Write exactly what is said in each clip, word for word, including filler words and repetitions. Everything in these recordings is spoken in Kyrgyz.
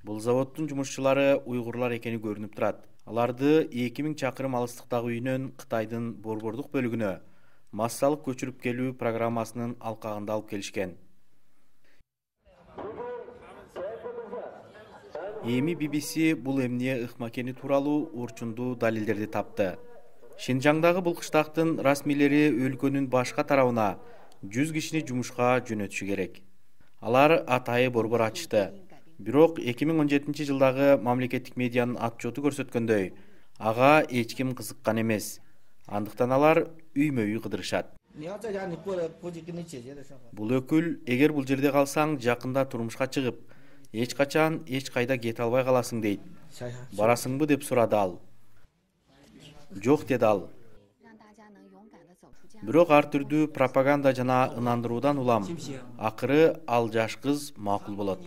Бул заводдун жумушчулары уйгурлар экени көрүнүп турат. Аларды эки миң чакырым алыстыктагы үйүнөн Кытайдын борбордук бөлүгүнө массалык көчүрүп келүү программасынын алкагында алып келишкен. Эми би би си бул эмне ыкма экени тууралуу урчундуу далилдерди тапты. Шинжаңдагы бул кыштактын расмийлери өлкөнүн башка тарабына жүз кишини жумушка жөнөтүшү керек. Алар атайы борбор ачышты. Бирок эки миң он жетинчи жылдагы мамлекеттик медианын отчету көрсөткөндөй, ага эч ким кызыккан эмес. Андыктан алар үймө-үй кыдырышат. Бул өкүл, эгер бул жерде калсаң, жакында турмушка чыгып, эч качан эч кайда кете албай каласың дейт. Барасыңбы деп сурады ал. Жок деди ал. Бирок ар түрдүү пропаганда жана ынандыруудан улам, акыры ал жаш кыз макул болот.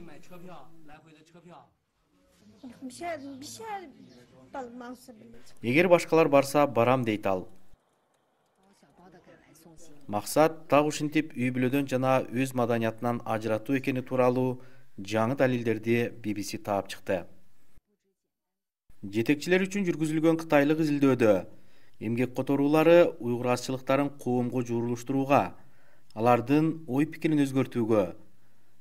Эгер башкалар барса, барам дейт ал. Максат так ушинтип үй бүлөдөн жана өз маданиятынан ажыратуу экени тууралуу жаңы далилдерди би би си таап чыкты. Жетекчилер үчүн жүргүзүлгөн кытайлык изилдөөдө эмгек которуулары уйгур азчылыктарын коомго журулуштурууга, алардын ой пикирин өзгөртүүгө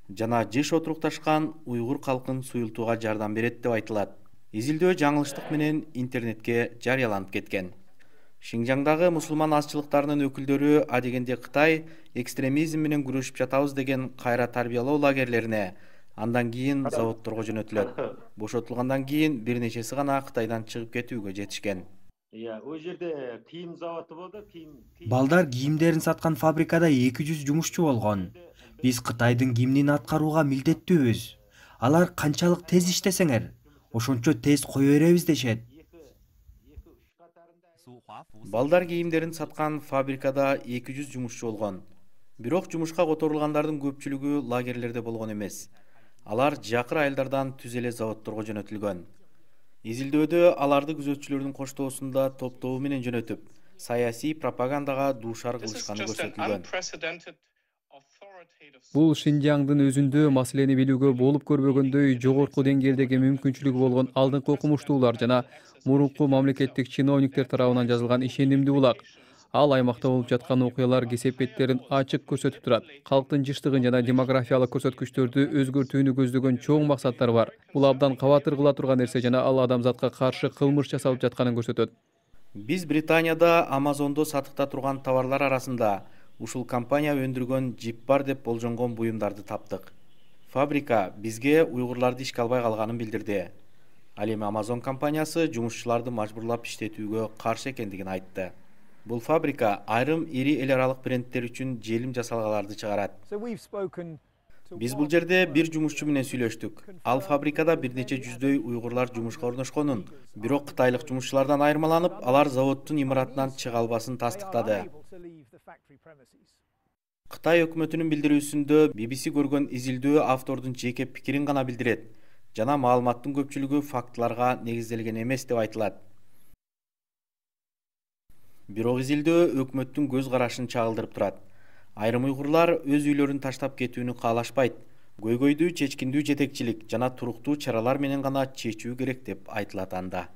жана жыш отурукташкан уйгур калкын суюлтууга жардам берет деп айтылат. Изилдөө жаңылыштык менен интернетке жарыяланып кеткен. Шинжаңдагы мусулман азчылыктарынын өкүлдөрү адегенде Кытай экстремизм менен күрөшүп жатабыз деген кайра тарбиялоо лагерлерине, андан кийин заводдорго жөнөтүлөт. Бошотулгандан кийин бир нечеси гана Кытайдан чыгып кетүүгө жетишкен. О жерде кийим заводу болду, кийим. Балдар кийимдерин саткан фабрикада эки жүз жумушчу болгон. Биз Кытайдын кийимин аткарууга милдеттүүбүз. Алар канчалык тез иштесеңер, ошончо тез кое беребиз дешет. Балдар кийимдерин саткан фабрикада эки жүз жумушчу болгон. Бирок жумушка которулгандардын көпчүлүгү лагерлерде болгон эмес. Алар жакыр айылдардан түз эле заводдорго жөнөтүлгөн. Изилдөөдө аларды күзөтчүлөрдүн коштоосунда топтоо менен жөнөтүп, саясий пропагандага дуушар кылышканы көрсөтүлгөн. Бул Шинжаңдын өзүндө маселени билүүгө болуп көрбөгөндөй жогорку деңгээлдеги мүмкүнчүлүгү болгон алдыңкы окумуштуулар жана мурунку мамлекеттик чиновниктер тарабынан жазылган ишенимдүү булак. Ал аймакта болуп жаткан окуялар кесепеттерин ачык көрсөтүп турат. Калктын жыштыгын жана демографиялык көрсөткүчтөрдү өзгөртүүнү көздөгөн чоң максаттар бар. Бул абдан кабатыр кыла турган нерсе жана ал адамзатка каршы кылмыш жасалып жатканын көрсөтөт. Биз Британияда Амазондо сатыкта турган товарлар арасында ушул компания өндүргөн жип бар деп болжонгон буюмдарды таптык. Фабрика бизге уйгурларды ишке албай калганын билдирди. Ал эми Amazon компаниясы жумушчуларды мажбурлап иштетүүгө каршы экендигин айтты. Бул фабрика айрым ири эл аралык брендтер үчүн желим жасалгаларды чыгарат. Биз бул жерде бир жумушчу менен сүйлөштүк. Ал фабрикада бир нече жүздөй уйгурлар жумушка орношконун, бирок кытайлык жумушчулардан айырмаланып, алар заводдун имаратынан чыга албасын тастыктады. Кытай өкмөтүнүн билдирүүсүндө би би си көргөн изилдөө автордун жеке пикирин гана билдирет жана маалыматтын көпчүлүгү фактыларга негизделген эмес деп айтылат. Бирок изилдөө өкмөттүн көз карашын чагылдырып турат. Айрым уйгурлар өз үйлөрүн таштап кетүүнү каалашпайт. Көйгөйдү чечкиндүү жетекчилик жана туруктуу чаралар менен гана чечүү керек деп айтылат анда.